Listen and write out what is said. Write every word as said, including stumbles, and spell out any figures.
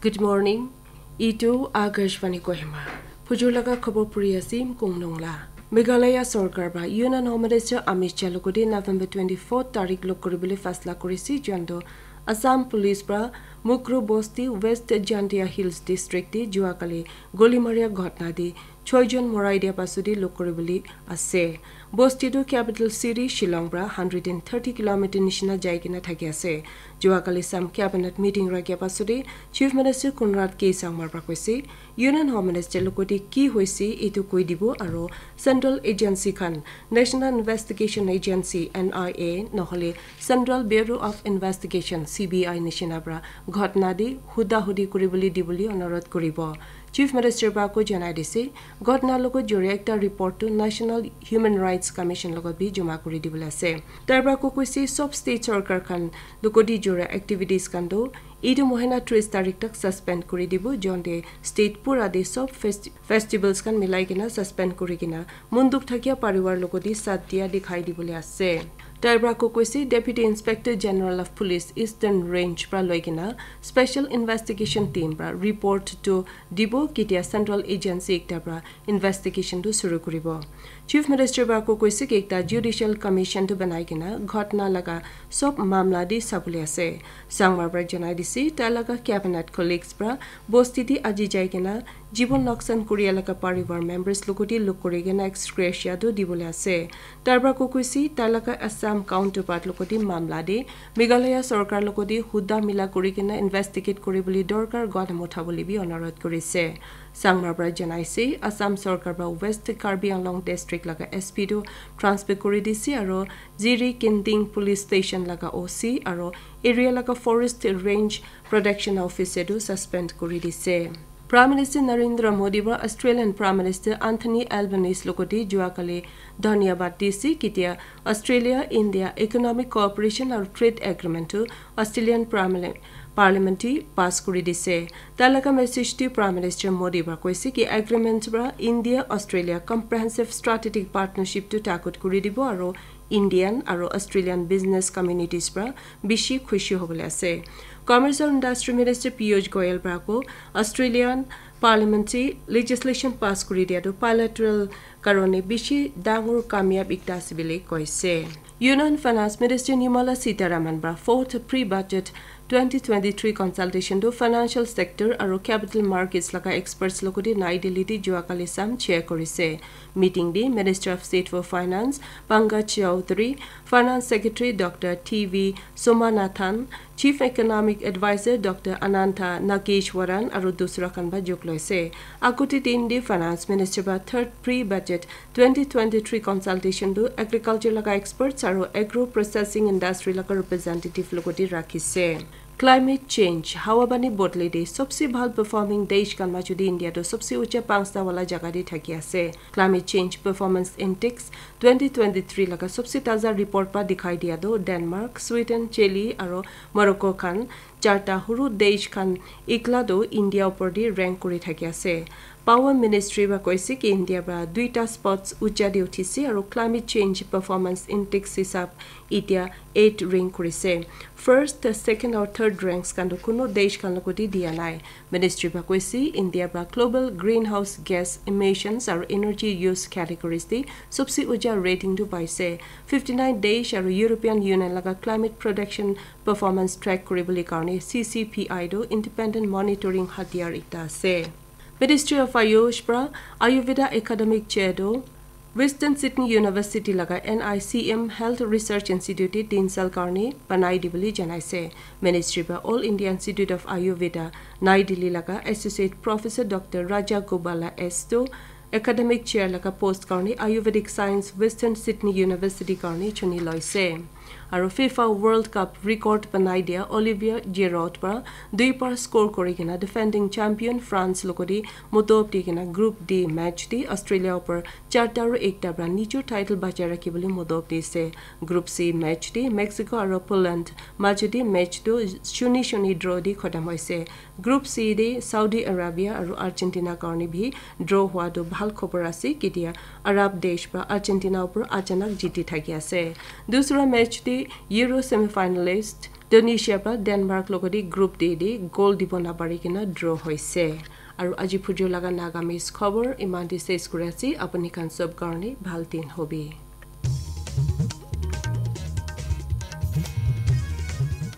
Good morning. Itu Akashvani Kohima. Phujur laga khobor puri ase Mkong Nongla. Meghalaya Sorkar ba Union Home Minister Amit Shah logodi November twenty-four tarik lok koribole fasla korise, jonto Assam Police pra Mukru Bosti, West Jaintia Hills District te jua kali goli maria ghotna te choi jon morai dia pasudi lok koribole ase. Bosti tu capital city Shillong pra hundred and thirty kilometer nishina jai kena thaki ase. Jua kali sam cabinet meeting rakhia pasudi Chief Minister Conrad K Sangma pra koise, Union Home Minister logodi ki hoise etu koi dibo aro central agency khan, National Investigation Agency, N I A, nohole Central Bureau of Investigation, C B I nishina pra ghotna te huda hudi kuribole dibole onurodh kuribo. Chief Minister pra ko janai dise, ghotna logot jori ekta report tu National Human Rights Commission logot bi joma kuri dibole ase. Tar pra ko koise sob state sorkar khan logoti jora activities khan tu etu mohina tris tarik tak suspend kuri dibo, jonte state pura te sob festi-, festivals khan milai kena suspend kuri kena munduk thakia parivar logoti sat dia dikhai dibole ase. Tar pra ko koise Deputy Inspector General of Police Eastern Range pra loi kena Special Investigation Team pra report tu dibo ketia central agency ekta pra investigation tu suru kuribo. Chief Minister pra ko koise ki ekta judicial commission tu banai kena ghotna laga sob mamla di sabole ase. Sangma pra janai dise, tai laga cabinet colleagues pra bosti di aji jai kena jibon noksan kuria laga parivar members logoti lok kuri kena ex gratia tu dibole ase. Tar pra ko koise, tai laga Assam counterpart logoti mamla de Meghalaya sorkar logoti huda mila kuri kena investigate kuribole dorkar gadam uthabole bi onurodh kurise. Sangma pra janaise, Assam sorkar pra West Karbi Anglong District laga S P tu transfer kuri dise aro Ziri Kinting Police Station laga O C aro area laga Forest Range Protection Officer tu suspend kuri dise. Prime Minister Narendra Modi pra Australian Prime Minister Anthony Albanese logoti jua kali dhanyabad dise, ketia Australia India Economic Cooperation aro Trade Agreement tu Australian Parliament Parliament te pass kuri dise. Tai laga message te Prime Minister Modi pra koise ki agreement pra India Australia comprehensive strategic partnership tu takut kuri dibo aro Indian aro Australian business communities pra bishi khushi hobole ase. Commerce and Industry Minister Piyush Goyal pra ko Australian Parliament te legislation pass kuri dia tu bilateral karone bishi dangor kamyab ekta ase bole koise. Union Finance Minister Nirmala Sitharaman pra fourth pre-budget twenty twenty-three consultation tu financial sector aro capital markets laga experts logoti Nai Delhi te jua kali sam chair korise. Meeting te Minister of State for Finance Pankaj Chaudhary, Finance Secretary Doctor T V Somanathan, Chief Economic Advisor Doctor Anantha Nageshwaran aro dusra khan ba jog loise. Agute din te Finance Minister ba third pre-budget twenty twenty-three consultation tu agriculture laga experts aro agro processing industry laga representative logoti rakhise. Climate change, hawa pani bodle de sobse bhal performing desh khan majot de India tu sobse ucha panchta wala jaga de thaki ase. Climate Change Performance Index twenty twenty-three laga sobse taza report pa dikhai dia tu Denmark, Sweden, Chile aro Morocco khan charta huru desh khan ikla tu India upor de rank kuri thaki ase. Power Ministry ba koise ki India ba duita spots ucha de uthise aro Climate Change Performance Index hisab itia eight rank kurise. First, second aru third ranks khan tu kuno desh khan logoti dia nai. Ministry ba koise India ba global greenhouse gas emissions aru energy use categories te sobse uja rating tu paise. Fifty nine desh aru European Union laga climate protection performance track kuribole karne C C P I tu independent monitoring hatiyar ekta ase. Ministry of Ayush pra Ayurveda Academic Chair tu Western Sydney University laga N I C M Health Research Institute te tin sal karne banai dibole janaise. Ministry pra All India Institute of Ayurveda, Nai Delhi laga Associate Professor Doctor Raja Gobala S tu Academic Chair laga post karne Ayurvedic Science Western Sydney University karne chuni loise. Aru FIFA World Cup record banai dia Olivier Giroud pra dui par score kuri kena defending champion France logoti mutop di kena Group D match te Australia upor charta aru ekta pra nijor title bachai rakhi bole mutop dise. Group C match te Mexico aru Poland majot te match tu shuni shuni draw di khotom hoise. Group C te Saudi Arabia aru Argentina karne bhi draw hua tu bhal khobor ase, ketia Arab desh pra Argentina upor achanak jiti thaki ase. Dusra match te Euro semifinalist Tunisia pra Denmark logodi group D de goal dibo napari kena draw hoise. Aru aji phujo laga Nagamese khobor iman te ses kuri ase, apuni khan sob karne bhal din hobi.